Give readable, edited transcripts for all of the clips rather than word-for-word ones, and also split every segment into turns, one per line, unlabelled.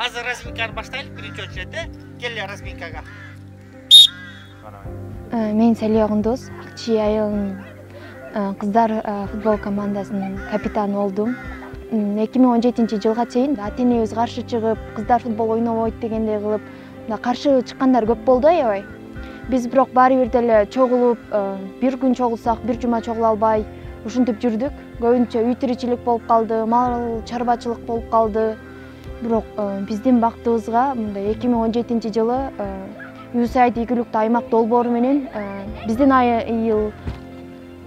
Азыр разминканы баштайлы биринчи очередде. Келе разминкага.
Мен Салия Кундуз, Акчи айылынын кыздар футбол командасынын капитаны болдум. 2017-жылга чейин ата-энебиз каршы чыгып, кыздар футбол ойнобойт дегендей кылып, каршы чыккандар көп болду аябай. Биз бирок баары бир деле чогулуп, бир күн чогулсак, бир жума чогула албай, ушинтип жүрдүк. Көбүнчө үй тиричилик болуп калды, мал чарбачылык болуп калды. Бирок биздин бактыбызга мындай 2017-жылы USAID ийгиликтүү аймак долбоору менен биздин айыл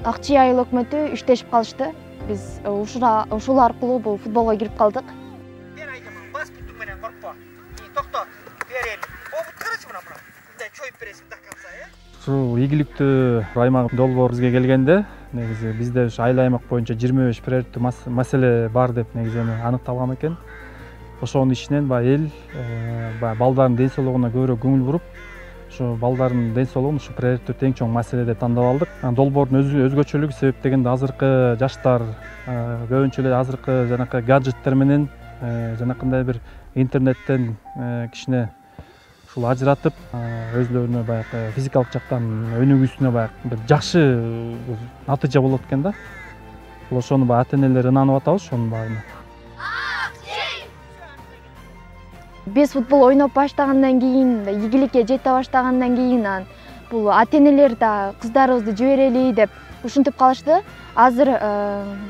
Акчи айыл өкмөтү иштешип калышты. Биз ушул аркылуу бул футболго кирип калдык.
Бер айдаман бас бүтүң менен коркпо. Токто. Берели. Обут карачы мына. Мындай чоюп бересиң до конца,
Ушул ийгиликтүү аймак долбоор бизге келгенде, негизи бизде ушу айыл аймак боюнча 25 приоритеттүү маселе бар деп негизи аныкталган экен. Ошонун ичинен эл балдардын ден соолугуна көбүрөөк көңүл буруп, ушу балдардын ден соолугун ушу приоритеттүү тең чоң маселе деп тандап алдык. Долбоордун өзгөчөлүгү себеп дегенде азыркы жаштар көбүнчө эле азыркы жанакы гаджеттер менен жанакындай бир интернеттен кичине ушул ажыратып, өзлөрүнө баягы физикалык жактан өнүгүүсүнө баягы бир жакшы натыйжа болот экен да. Ошону ата-энелер ынанып атабыз ошонун баарына.
Биз футбол ойноп баштагандан кийин, ийгиликке жете баштагандан кийин бул ата-энелер да кыздарыбызды жиберели деп ушинтип калышты. Азыр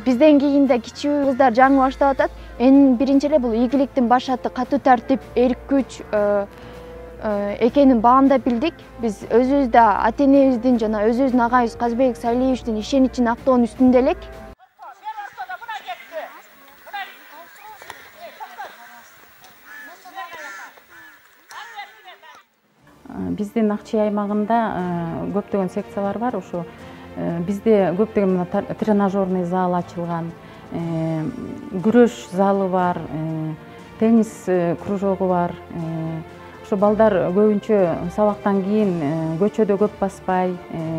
бизден кийин да кичүү кыздар жаңы баштап атат. Эң биринчи эле бул ийгиликтин баш аты катуу тартип, эрк күч экенин баамдап билдик. Биз өзүбүз да ата-энебиздин жана өзүбүздүн агайыбыз Казбек Салиевичтин ишеничин актоонун үстүндө элек.
Биздин Акчи аймагында көптөгөн секциялар бар. Ушу бизде көптөгөн тренажерный зал ачылган, күрөш залы бар, теннис кружогу бар. Ушу балдар көбүнчө сабактан кийин көчөдө көп баспай,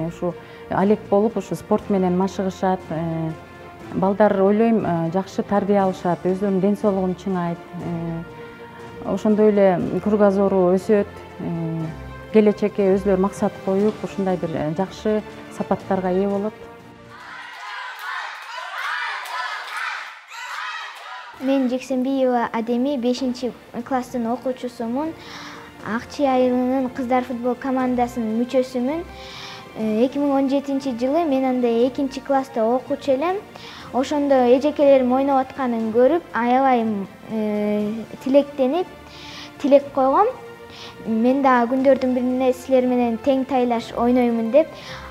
ушу алек болуп, ушу спорт менен машыгышат. Балдар ойлойм жакшы тарбия алышат, өзүнүн ден соолугун чыңайт. Ошондой эле кругозору өсөт. Келечекке өзлөр максат коюп, ушундай бир жакшы сапаттарга ээ болот.
Мен Жексенбиева Адеми 5-класстын окуучусумун. Акчи айылынын кыздар футбол командасынын мүчөсүмүн. 2017-жылы мен анда 2-класста окуучу элем. Ошондо эжекелерим ойноп атканын көрүп, аябай тилектенип, тилек койгом. Мен да күндөрдүн бирине силер менен тең тайлаш ойноймун деп.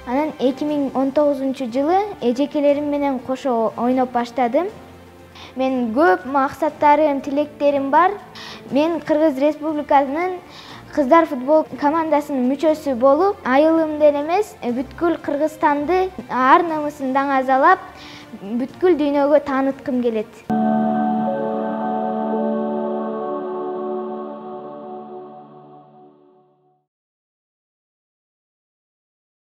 Анан 2019-жылы эжекелерим менен кошо ойноп баштадым. Мен көп максаттарым, тилектерим бар. Мен Кыргыз Республикасынын кыздар футбол командасынын мүчөсү болуп, айылымдын эмес, бүткүл Кыргызстанды ар намысын даңазалап, бүткүл дүйнөгө тааныткым келет.